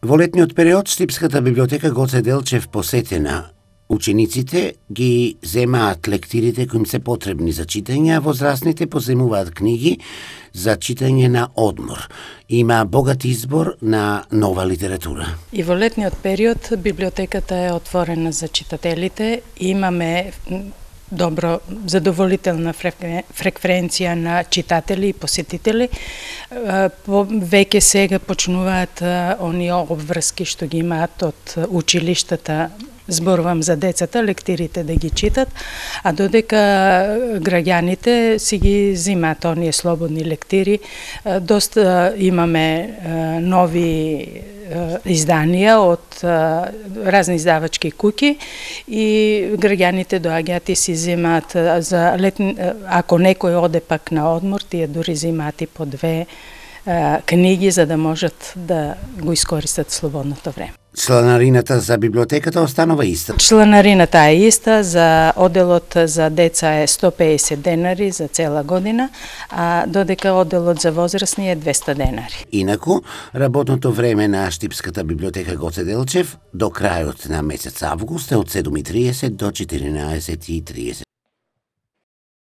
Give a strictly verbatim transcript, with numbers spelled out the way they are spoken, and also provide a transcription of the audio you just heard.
Во летниот период Штипската библиотека Гоце Делчев посетена. Учениците ги земаат лектирите кои им се потребни за читање, а возрастните поземуваат книги за читање на одмор. Има богат избор на нова литература. И во летниот период библиотеката е отворена за читателите. Имаме добро, задоволителна фреквенција на читатели и посетители. Веќе сега почнуваат оние обврски што ги имаат од училиштата, зборувам за децата, лектирите да ги читат, а додека граѓаните си ги зимаат оние слободни лектири. Доста имаме нови изданија од разни издавачки куќи и граѓаните доаѓаат и си земаат за летни, ако некој оде пак на одмор, тие дури земаат и по две книги за да можат да го искористат слободното време. Чланарината за библиотеката останува иста. Чланарината е иста, за оделот за деца е сто песет денари за цела година, а додека оделот за возрастни е двесте денари. Инаку, работното време на Штипската библиотека Гоце Делчев до крајот на месец август е од седум и триесет до четиринаесет и триесет.